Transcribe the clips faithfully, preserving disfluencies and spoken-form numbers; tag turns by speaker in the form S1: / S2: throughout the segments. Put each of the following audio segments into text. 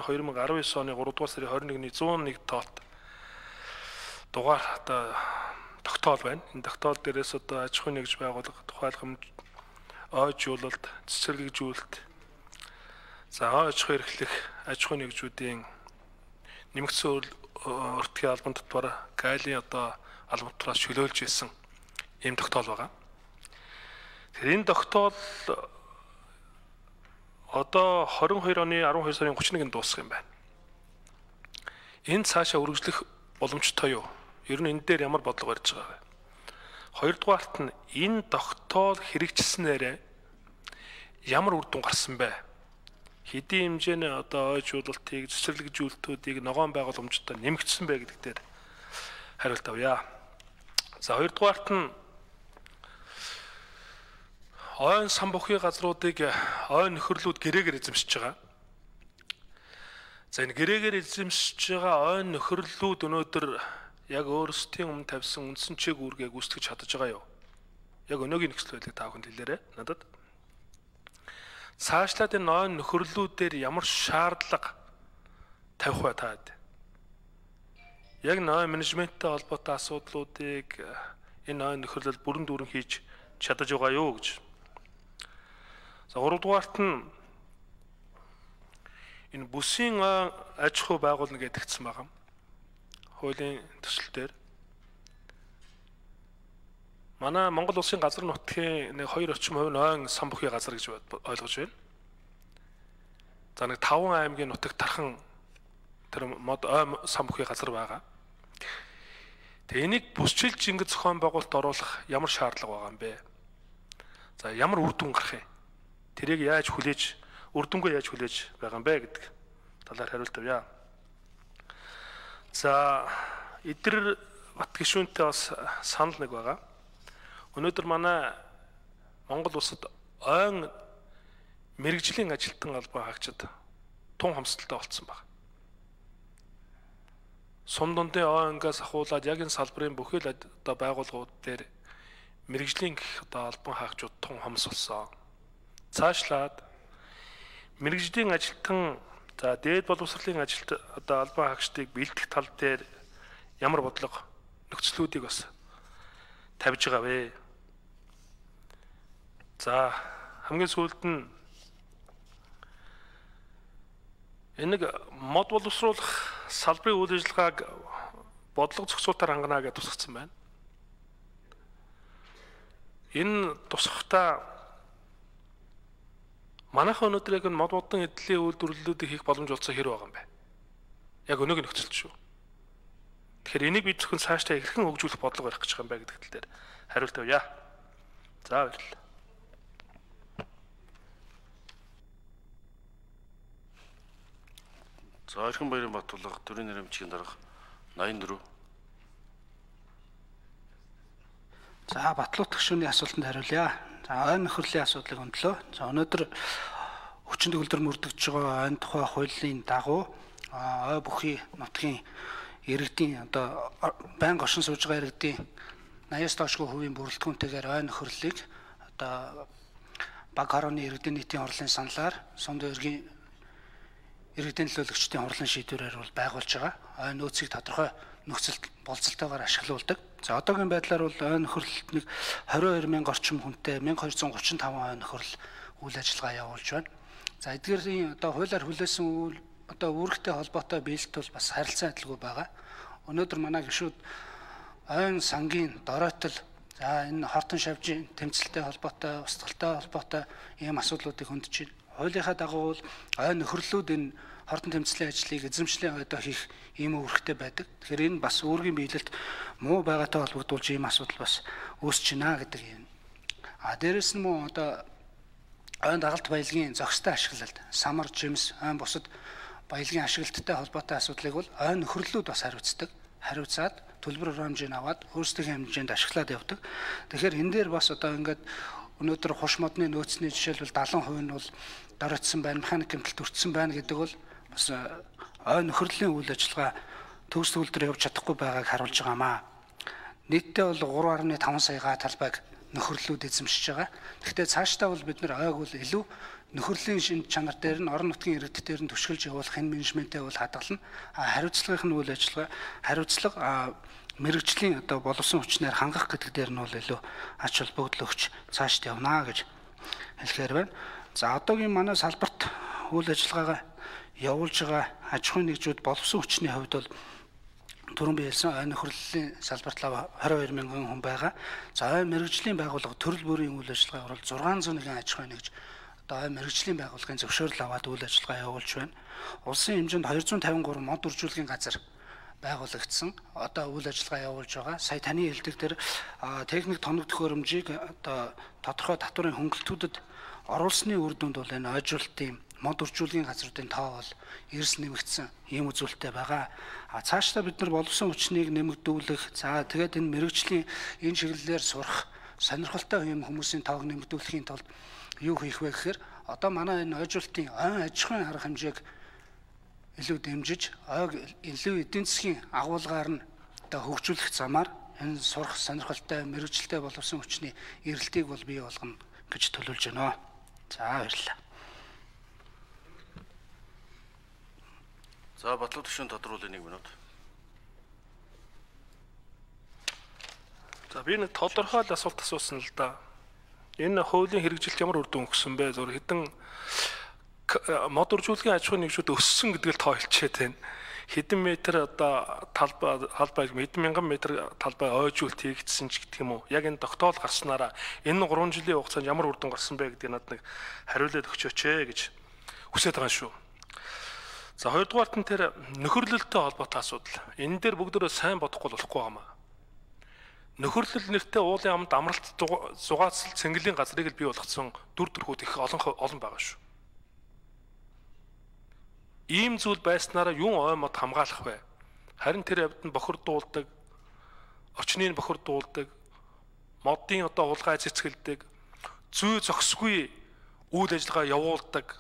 S1: хоёр мянга арван девять оны гуравдугаар сарын хорин нэгний зуун нэг тоолт дугаар одоо тогтоол байна. Энэ тогтоол дээрээс одоо аж ахуйн нэгж байгууллага, тухайлбал ойжуулалт, цэцэрлэгжүүлэлт, за аж ахуй эрхлэх аж ахуйн нэгжүүдийн нэмэгдсэн өртгийн албан татвар гайлийн одоо албан татвараас чөлөөлж исэн ийм тогтоол байгаа. Тэгэхээр энэ тогтоол одоо хорин хоёр оны арван хоёр сарын гуравч нэгнд дуусах юм байна. Энэ цаашаа үргэлжлэх боломжтой юу? Ер нь энэ дээр ямар бодлого барьж байгаа вэ? Хоёрдугаарт нь энэ тогтоол хэрэгжсэнээр ямар үр дүн гарсан бэ? Хэдийн хэмжээний одоо ойжуулалтыг, цэцэрлэгжүүлэлтүүдийг ногоон байгууламжтай нэмэгдсэн бэ гэдэг дээр хариулт авъя. За хоёрдугаарт нь ойн сан бүхий газруудыг ойн нөхөрлүүд гэрээгээр эзэмшиж байгаа. За энэ гэрээгээр эзэмшиж байгаа ойн нөхөрлүүд өнөөдөр яг өөрсдийн өмнө тавьсан үндсэн чиг үүргээ гүйцэтгэж чадаж байгаа юу? Яг өнөөгийн нөхцөл байдлыг та бүхэнд хэлээрэй надад. Цаашлаад энэ ойн нөхөрлүүдээр ямар шаардлага тавих вэ та хэд? Яг ойн менежменттэй холбоотой асуудлуудыг энэ ойн нөхөрлөл бүрэн дүүрэн хийж чадаж байгаа юу гэж. За гуравдугаарт нь энэ бүсийн аж ахуй байгуулна гэдэгцсэн байгаа. Хуулийн төсөл дээр манай Монгол улсын газар нутгийн нэг хоёр орчим хувь нь ойн сан бүхий газар гэж ойлгож байна. За нэг таван аймгийн нутагт тархан тэр мод ойн сан бүхий газар байгаа. Тэгээ энийг бүсчилж ингэж зохион байгуулалт оруулах ямар шаардлага байгаа юм бэ? За ямар үр дүн гарах юм? Тэрийг яаж хүлээж, үр дүнгээ яаж хүлээж байгаа юм бэ гэдэг талаар хариулт авъя. За эдгээр бат гишүүнтэй бас санал нэг байгаа. Өнөөдөр манай Монгол улсад ойн мэрэгжлийн ажилтан албан хаагчид тун хамсалтай болцсон байна. Сум дундын ойнгоос ахуулаад яг энэ салбарын бүхэл одоо байгууллагууд дээр мэрэгжлийн гэх одоо албан хаагчид тун хамс болсон. Цаашлаад мэрэгжлийн ажилтан за дээд боловсролын ажилт одоо албан хаагчдыг бэлдэх тал дээр ямар бодлого нөхцлүүдийг бас тавьж байгаа вэ? За хамгийн сүүлд нь энэ мод боловсруулах салбарын үйл ажиллагааг бодлого зохицуултаар хангана гэж тусгацсан байна. Энэ тусахтаа манайхан өнөөдөр яг мод модон эдлийн үйлдвэрлэлүүдийг хийх боломж олцсон хэрэг байгаа юм байна. Яг өнөөгийн нөхцөлд шүү. Тэгэхээр энийг бид зөвхөн цаашдаа хэрхэн хөгжүүлэх бодлого барих гэж байгаа юм бэ гэдэг тал дээр хариулт авъя. За баярлалаа.
S2: За Эрхэм баярын Батулга төрийн нэрмжийн дарга найман дөрөв.
S3: За Батлуут гишүүний асуултанд хариулъя. За ойн нөхөрлийн асуудлыг өндлөө. За өнөөдөр хүчин төгөлдөр мөрдөгдөж байгаа ойн тухай хуулийн дагуу ой бүхий нутгийн иргэдийн одоо байнга оршин сууж байгаа иргэдийн наяас доошгүй хувийн бүрэлдэхүүнтэйгээр ойн нөхөрлөлийг одоо баг хорооны иргэдийн нийтийн хурлын саналаар сумд иргэдийн иргэдийн төлөөлөгчдийн хурлын шийдвэрээр бол байгуулж байгаа. Ойн нөөцийг тодорхой нөхцөлд болцолтойгоор ашиглуулдаг. За одоогийн байдлаар бол ойн нөхөрлөлт нэг двадцать two мянга орчим хүнтэй twelve thirty-five ойн нөхөрл үйл ажиллагаа явуулж байна. За эдгээрийн одоо хуулиар хүлээсэн үйл одоо үүрэгтэй холбоотой биелэлт бол бас харилцан адилгүй байгаа. Өнөөдөр манай гишүүд ойн сангийн доройтол за энэ хортон шавжийн тэмцэлтэй холбоотой, устгалтай холбоотой ийм асуудлуудыг хөндөж байна. Хуулийнхаа дагуу бол ойн нөхөрлөлүүд энэ хортон тэмцлийн ажлыг эзэмшлийн ойдоо хийх ийм үүрэгтэй байдаг. Тэгэхээр энэ бас үүргийн биелэлт муу байгаатай холбогдуулж ийм асуудал бас үүсэж байна гэдэг юм. А дээрэс нь мөн одоо ойн дагалт баялагын зохистой ашиглалт, самар, жимс, ойн бусад баялагын ашиглалттай холбоотой асуудлыг бол ойн нөхөрлөлүүд бас хариуцдаг. Хариуцаад төлбөр хэмжээг аваад өөрсдийн хэмжээнд ашиглаад явдаг. Тэгэхээр энэ дээр бас одоо ингээд өнөөдөр хуш модны нөөцний жишээлбэл seventy percent нь бол доройтсон байна, механик гэмтэлд өртсөн байна гэдэг бол бас ойн нөхөрлөлийн үйл ажиллагаа төгс төгөлдөр явж чадахгүй байгааг харуулж байгаамаа. Нийтдээ бол three point five сая га талбайг нөхөрлөлүүд эзэмшиж байгаа. Гэхдээ цаашдаа бол бид нар ойг бол илүү нөхөрлийн шинж чанар дээр нь орон нутгийн иргэд дээр нь түшгэлж явуулах энэ менежментээ бол хадгална. Хариуцлагын үйл ажиллагаа хариуцлага мэрэгжлийн одоо боловсон хүчнээр хангах гэдэг дээр нь бол илүү ач холбогдол өгч цаашд явна гэж хэлэхээр байна. За одоогийн манай салбарт үйл ажиллагаагаа явуулж байгаа аж ахуйн нэгжүүд боловсон хүчний хувьд бол түрүүн би хэлсэн ой нөхөрлөлийн салбарт хорин хоёр мянган хүн байгаа. За ой мэрэгжлийн байгууллага төрөл бүрийн үйл ажиллагаа орол зургаан зуун нэгэн аж ахуйн нэгж одоо ой мэрэгжлийн байгууллагын зөвшөөрөл аваад үйл ажиллагаа явуулж байна. Улсын хэмжээнд хоёр зуун тавин гурван мод үржүүлгийн газар байгуулагдсан. Одоо үйл ажиллагаа явуулж байгаа. Сая таны хэлдэг дээр техник тоног төхөөрөмжийг одоо тодорхой татварын хөнгөлтүүдэд оруулсны үр дүнд бол энэ ойжуулалтын мод үржүүлгийн газруудын тоо бол эрс нэмэгдсэн ийм үзүүлэлттэй байгаа. А цаашдаа бид нар боловсон хүчнийг нэмэгдүүлэх, за тэгээд энэ мэрэгжлийн энэ чиглэлээр сурах, сонирхолтой юм хүмүүсийн тоог нэмэгдүүлэхийн тулд юу хийх вэ гэхээр одоо манай энэ ойжуулалтын ойн аж ахуйн арга хэмжээг илүү дэмжиж, ойг илүү эдийн засгийн агуулгаар нь одоо хөгжүүлэх замаар энэ сурах сонирхолтой мэрэгжилтэй боловсон хүчний эрэлтийг бол бий болгоно гэж төлөвлөж байна. За баярлалаа.
S2: За Батлуу төвшин тодруулах нэг минут.
S1: За би нэг тодорхой асуулт асуусан л да. Энэ хуулийн хэрэгжилт ямар үр дүн өгсөн бэ? Зөв хэдэн мод үржүүлгийн аж ахуйн нэгжүүд өссөн гэдгийг тойлчээд байна. Хэдэн метр одоо талбай талбай хэдэн мянган метр талбай ойжуулт хийгдсэн ч гэх юм уу. Яг энэ тогтоол гарснараа энэ гурван жилийн хугацаанд ямар үр дүн гарсан бэ гэдгийг надад нэг хариулаад өгчөөч ээ гэж хүсэж байгаа шүү. За хоёрдугаарт нь тэр нөхөрлөлтөй холбоотой асуудал. Энэ дээр бүгдөө сайн бодохгүй болохгүй байнамаа. Нөхөрлөл нэртэй уулын амд амралт зугаацал цэнгэлийн газрыг л бий болгоцсон дүр төрхүүд их олон олон байгаа шүү. Ийм зүйл байснараа юун ой мод хамгаалах вэ? Харин тэр явд нь бохирдуулдаг, орчныг бохирдуулдаг, модын одоо хулгай цэцгэлдэг, зүй зохисгүй үйл ажиллагаа явуулдаг.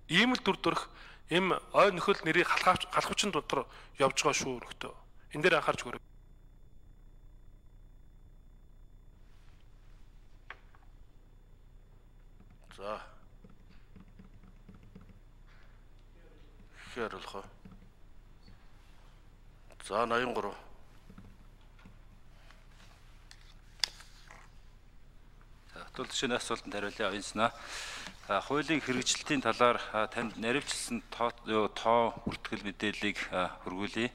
S1: Ийм л дүр төрх им ой нөхөл нэрийг халахч халахчин дотор явж байгаа шүү нөхдөө. Энэ дээр анхаарч өгөөрэй.
S2: За. Хариулах. За восемьдесят три.
S4: Тул шинэ асуултанд хариулъя оюунснаа. Хуулийн хэрэгжилтийн талаар танд наривчлсан тоо тоо бүртгэл мэдээллийг хөргүүлье.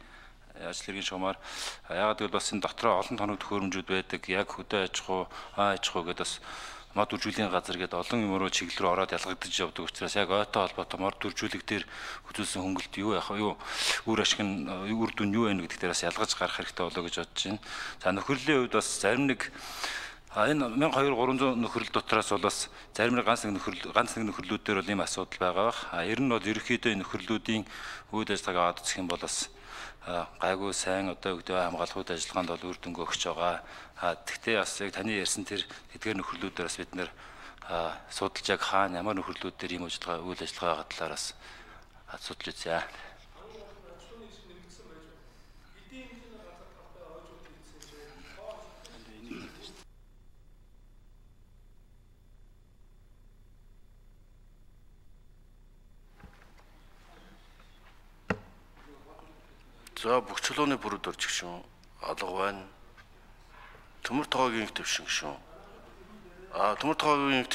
S4: Ажил хэргийн шугамар. Яагаад гэвэл бас энэ дотроо олон тоног төхөөрөмжүүд байдаг. Яг хөдөө аж ахуй, аа аж ахуй гэдэг бас мод үржүүлгийн газар гэдэг олон юм руу чиглэл рүү ороод ялгагдаж явдаг учраас яг ойтой холбоотой мод үржүүлэг дээр үзүүлсэн хөнгөлт юу яах юу үр ашиг нь үр дүн юу вэ гэдэг дээр бас ялгаж гарах хэрэгтэй болоо гэж бодож байна. За нөхөрлийн хувьд бас зарим нэг энэ мянга хоёр гуравзуун нөхрөл дотроос бол бас зарим нэг ганц нэг нөхрөл ганц нэг нөхрлүүд дээр бол ийм асуудал байгаа бах. А ер нь бол ерөнхийдөө энэ нөхрлүүдийн үйл ажиллагааг аваад үзэх юм бол бас гайгүй сайн одоо өгдөө хамгаалах үйл ажиллагаанд бол үр дүнг өгч байгаа. А тэгтээ бас яг таны ярьсан тэр эдгээр нөхрлүүдээр бас бид нэр судалж яг хаана ямар нөхрлүүдээр ийм ажиллагаа үйл ажиллагаа талаар бас судалж үзье.
S2: За бүх чулууны бүрд орж гişүн алга байна. Төмөр тоогийн төвшин гişүн. А төмөр тоогийн